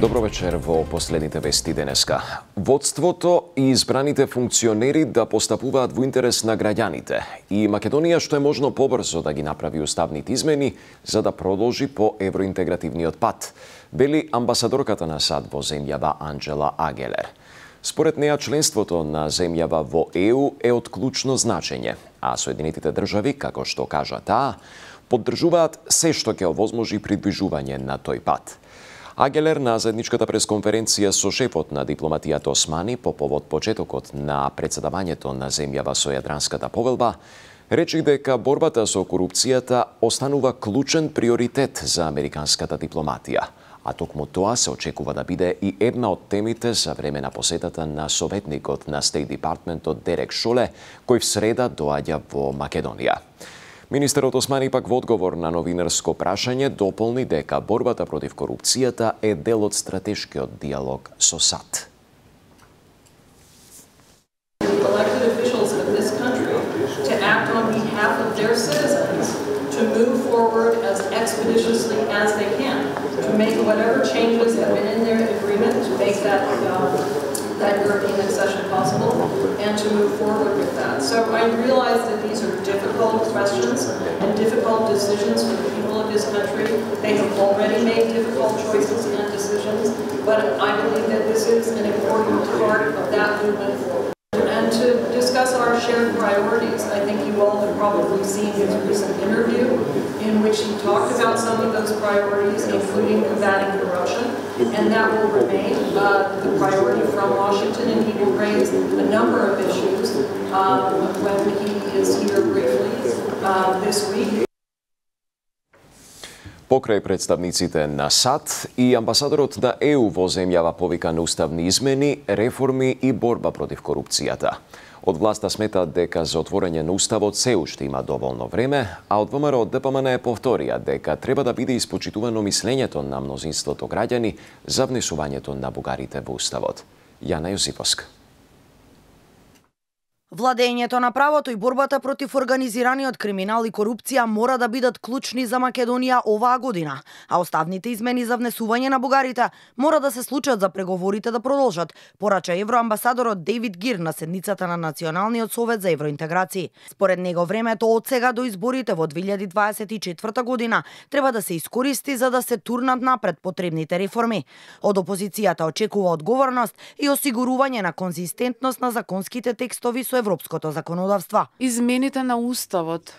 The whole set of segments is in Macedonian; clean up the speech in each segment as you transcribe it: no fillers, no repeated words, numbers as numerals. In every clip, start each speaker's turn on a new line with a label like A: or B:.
A: Добро вечер во последните вести денеска. Водството и избраните функционери да постапуваат во интерес на граѓаните и Македонија што е можно побрзо да ги направи уставните измени за да продолжи по евроинтегративниот пат, вели амбасадорката на САД во земјава Анџела Агелер. Според неа, членството на земјава во ЕУ е од клучно значење, а Соединетите држави, како што кажа таа, поддржуваат се што ќе овозможи придвижување на тој пат. Агелер на заедничката пресконференција со шефот на дипломатијата Османи по повод почетокот на претседавањето на земјава со Јадранската повелба, речи дека борбата со корупцијата останува клучен приоритет за американската дипломатија, а токму тоа се очекува да биде и една од темите за време на посетата на советникот на State Departmentот Дерек Шоле, кој в среда доаѓа во Македонија. Министерот Османи пак во одговор на новинарско прашање дополни дека борбата против корупцијата е дел од стратешкиот диалог со САД.
B: Elected officials of this country to act on behalf of their citizens to move forward as expeditiously as they can, to make whatever changes have been in their agreement to make that European accession possible, and to move forward with that. So I realize that these are difficult questions and difficult decisions for the people of this country. They have already made difficult choices and decisions, but I believe that this is an important part of that movement forward. And to discuss our shared priorities, I think you all have probably seen his recent interview in which he talked about some of those priorities, including combating corruption, and that will remain the priority from Washington, and he will raise a number of issues when he is here briefly this week.
A: Покрај представниците на САД и амбасадорот на ЕУ во земјава повика на уставни измени, реформи и борба против корупцијата. Од власта сметаат дека за отворање на уставот се уште има доволно време, а од ВМРО ДПМН повторија дека треба да биде испочитувано мислењето на мнозинството граѓани за внесувањето на бугарите во уставот. Јана Јосиповска.
C: Владењето на правото и борбата против организираниот криминал и корупција мора да бидат клучни за Македонија оваа година, а уставните измени за внесување на бугарите мора да се случат за преговорите да продолжат, порача евроамбасадорот Дейвид Гир на седницата на Националниот совет за евроинтеграција. Според него времето од сега до изборите во 2024 година треба да се искористи за да се турнат напред потребните реформи. Од опозицијата очекува одговорност и осигурување на конзистентност на законските текстови со европското законодавство.
D: Измените на уставот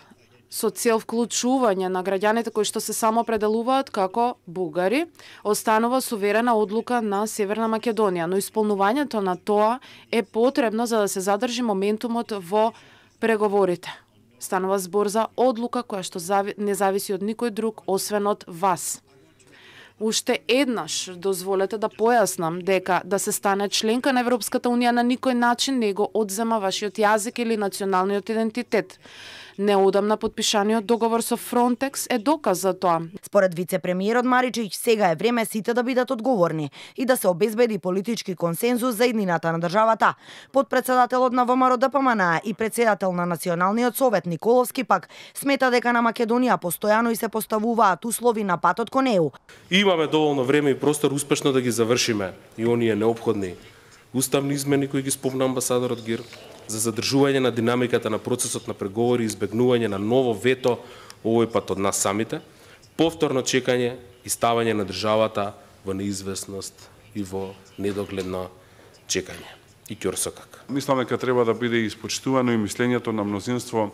D: со цел вклучување на граѓаните кои што се самоопределуваат како бугари останува суверена одлука на Северна Македонија, но исполнувањето на тоа е потребно за да се задржи моментумот во преговорите. Станува збор за одлука која што не зависи од никој друг освен од вас. Уште еднаш дозволете да појаснам дека да се стане членка на Европската унија на никој начин не го одзема вашиот јазик или националниот идентитет. Неодамна подпишаниот договор со Фронтекс е доказ за тоа.
C: Според вице-премиерот Маричич, сега е време сите да бидат одговорни и да се обезбеди политички консензус за иднината на државата. Подпредседателот на ВМРО ДПМН и председател на Националниот совет Николовски пак смета дека на Македонија постојано и се поставуваат услови на патот кон ЕУ.
E: Имаме доволно време и простор успешно да ги завршиме и оние неопходни уставни измени кои ги спомна амбасадорот Гир, за задржување на динамиката на процесот на преговори и избегнување на ново вето овој пат од нас самите, повторно чекање и ставање на државата во неизвестност и во недогледно чекање и ќорсокак.
F: Мислам дека треба да биде испочитувано и мислењето на мнозинство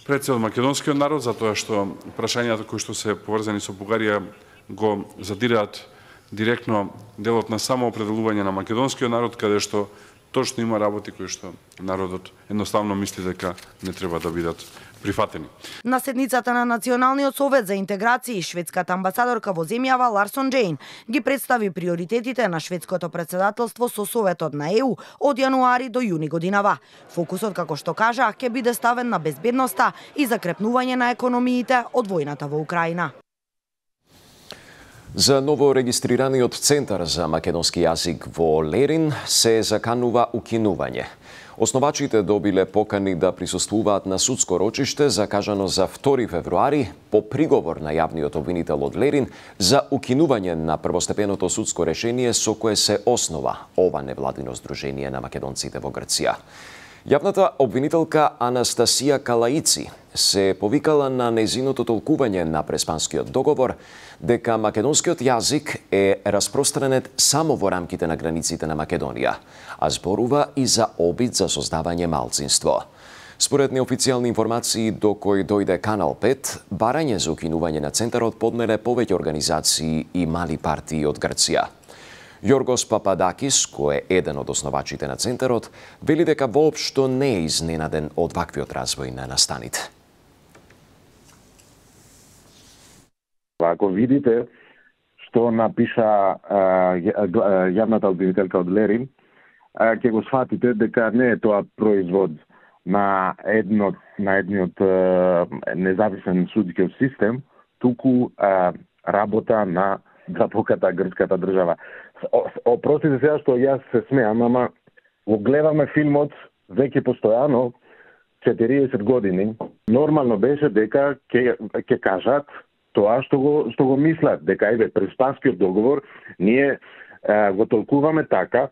F: пред се од македонскиот народ, затоа што прашањата кои што се поврзани со Бугарија го задираат директно делот на самоопределување на македонскиот народ, каде што точно има работи кои што народот едноставно мисли дека не треба да бидат прифатени.
C: На седницата на Националниот совет за интеграција, шведската амбасадорка во земјава Ларсон Джейн ги представи приоритетите на шведското председателство со Советот на ЕУ од јануари до јуни годинава. Фокусот, како што кажа, ќе биде ставен на безбедноста и закрепнување на економиите од војната во Украина.
A: За новорегистрираниот Центар за македонски јазик во Лерин се заканува укинување. Основачите добиле покани да присуствуваат на судско рочиште закажано за 2 февруари по приговор на јавниот обвинител од Лерин за укинување на првостепеното судско решение со кое се основа ова невладино здружение на македонците во Грција. Јавната обвинителка Анастасија Калаици се повикала на нејзиното толкување на Преспанскиот договор дека македонскиот јазик е распространет само во рамките на границите на Македонија, а зборува и за обид за создавање малцинство. Според неофицијални информации до кои дојде Канал 5, барање за укинување на центарот поднеле повеќе организации и мали партии од Грција. Јоргос Пападакис, кој е еден од основачите на центарот, вели дека воопшто не е изненаден од ваквиот развој на настаните.
G: Ако видите што напиша јавната обвинителка од Лерин, ќе го сфатите дека не е тоа производ на едниот независен судски систем, туку работа на драпоката грчката држава. Опростите сега што јас се смеам, ама го гледаме филмот веќе постојано 40 години. Нормално беше дека ќе кажат тоа што го мислат, дека еве Преспанскиот договор ние го толкуваме така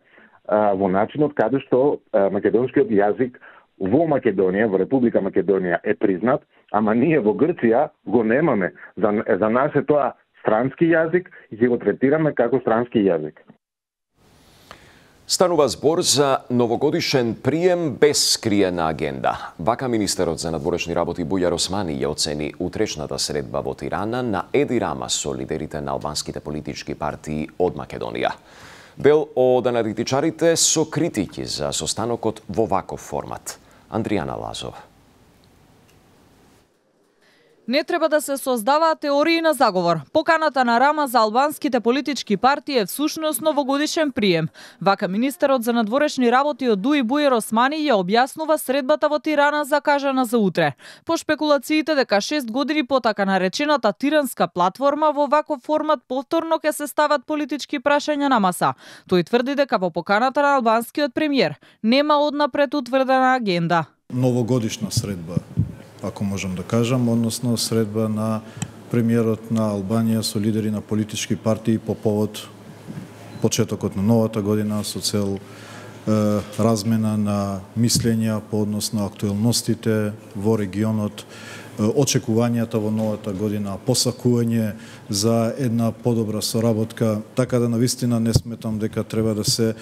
G: во начинот каде што македонскиот јазик во Македонија, во Република Македонија е признат, ама ние во Грција го немаме. За нас е тоа странски јазик и ќе го третираме како странски јазик.
A: Станува збор за новогодишен прием без скриена агенда. Вака министерот за надворешни работи Бујар Османи ја оцени утрешната средба во Тирана на Еди Рама со лидерите на албанските политички партии од Македонија. Дел од аналитичарите со критики за состанокот во ваков формат. Андријана Лазов.
H: Не треба да се создаваат теории на заговор. Поканата на Рама за албанските политички партии е всушност новогодишен прием. Вака министерот за надворешни работи од ДУИ Бујар Османи ја објаснува средбата во Тирана закажана за утре. По шпекулациите дека 6 години по така наречената тиранска платформа во ваков формат повторно ќе се стават политички прашања на маса. Тој тврди дека во поканата на албанскиот премиер нема однапред утврдена агенда.
I: Новогодишна средба, ако можам да кажам, односно средба на премиерот на Албанија со лидери на политички партии по повод почетокот на новата година со цел размена на мислења по однос на актуелностите во регионот, очекувањата во новата година, посакување за една подобра соработка, така да навистина не сметам дека треба да се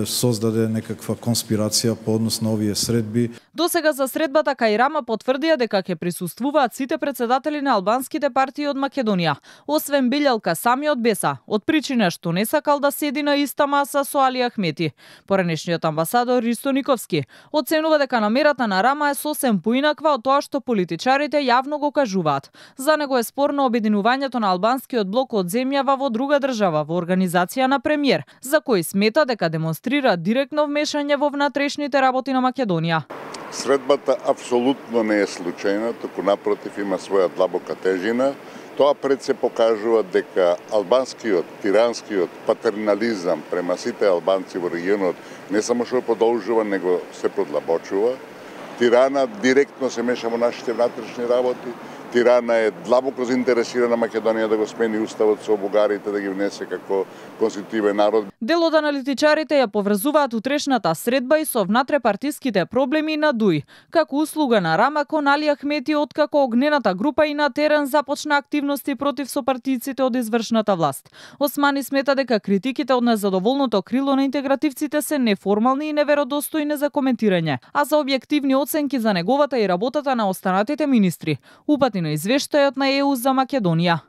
I: создаде некаква конспирација по однос на овие средби.
H: Досега за средбата кај Рама потврдија дека ќе присуствуваат сите председатели на албанските партии од Македонија, освен Билјалка самиот Беса, од причина што не сакал да седи на иста маса со Али Ахмети. Поранешниот амбасадор Ристо Никовски оценува дека намерата на Рама е сосем поинаква од тоа што политичарите јавно го кажуваат. За него е спорно обединувањето на албанскиот блок од земјава во друга држава во организација на премиер, за кој смета дека демонстрира директно вмешање во внатрешните работи на Македонија.
J: Средбата апсолутно не е случајна, туку напротив има своја длабока тежина. Тоа пред се покажува дека албанскиот, тиранскиот патернализам према сите албанци во регионот не само што продолжува, него се продлабочува. Тирана директно се меша во нашите внатрешни работи. Тирана е длабоко заинтересирана Македонија да го смени уставот со бугарите, да ги внесе како конститутивен народ.
H: Дел од аналитичарите ја поврзуваат утрешната средба и со внатрепартиските проблеми на ДУИ, како услуга на Рама кон Али Ахмети откако огнената група и на терен започна активности против сопартијците од извршната власт. Османи смета дека критиките од незадоволното крило на интегративците се неформални и неверодостојни за коментирање, а за објективни оценки за неговата и работата на останатите министри. Упати на извештајот на ЕУ за Македонија.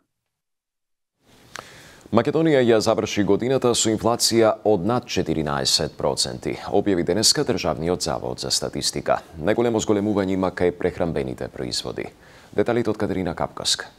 A: Македонија ја заврши годината со инфлација од над 14%, објави денеска Државниот завод за статистика. Најголемо зголемување има кај прехранбените производи. Деталите од Катерина Капкаска.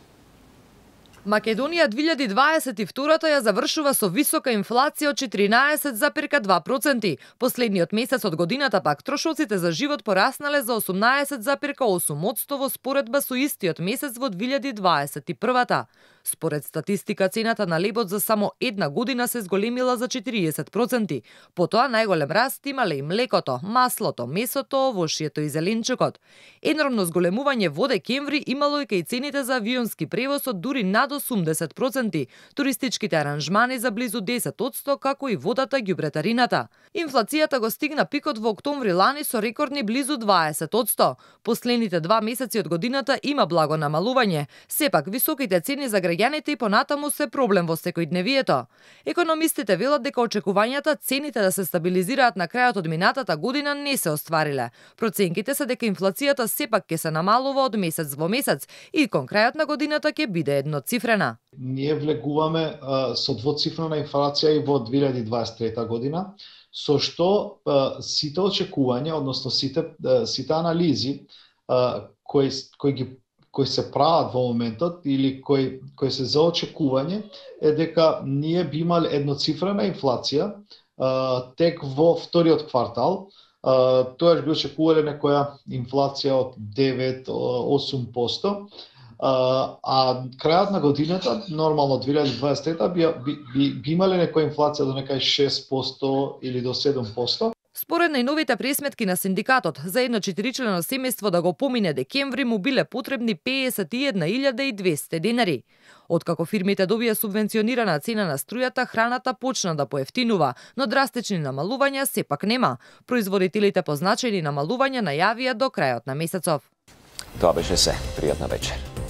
K: Македонија 2022 ја завршува со висока инфлација од 14,2%. Последниот месец од годината пак трошоците за живот пораснале за 18,8% во споредба со истиот месец во 2021. Според статистика, цената на лебот за само една година се зголемила за 40%. Потоа најголем раст имале и млекото, маслото, месото, овошјето и зеленчукот. Енормно зголемување во декември имало и кај цените за авионски превоз од дури над 80%, туристичките аранжмани за близу 10%, како и водата, ѓубретарината. Инфлацијата го стигна пикот во октомври лани со рекордни близу 20%. Последните 2 месеци од годината има благо намалување. Сепак, високите цени за граѓаните и понатаму се проблем во секојдневието. Економистите велат дека очекувањата цените да се стабилизираат на крајот од минатата година не се оствариле. Проценките се дека инфлацијата сепак ќе се намалува од месец во месец и кон крајот на годината ќе биде едноцифрена.
L: Ние влегуваме со двоцифрена инфлација и во 2023 година, со што сите очекувања, односно сите анализи кои се прават во моментот или кои се за очекување е дека ние би имале едноцифрена инфлација тек во вториот квартал. Тоаш би очекувале некоја инфлација од 9-8%, а крајот на годината, нормално 2023 би имале некоја инфлација до некај 6% или до 7%.
K: Според најновите пресметки на синдикатот, за едно 4-члено семејство да го помине декември му биле потребни 51.200 денари. Откако фирмите добија субвенционирана цена на струјата, храната почна да поевтинува, но драстични намалувања сепак нема. Производителите позначени намалувања најавија до крајот на месецов.
A: Тоа беше се. Пријатна вечер.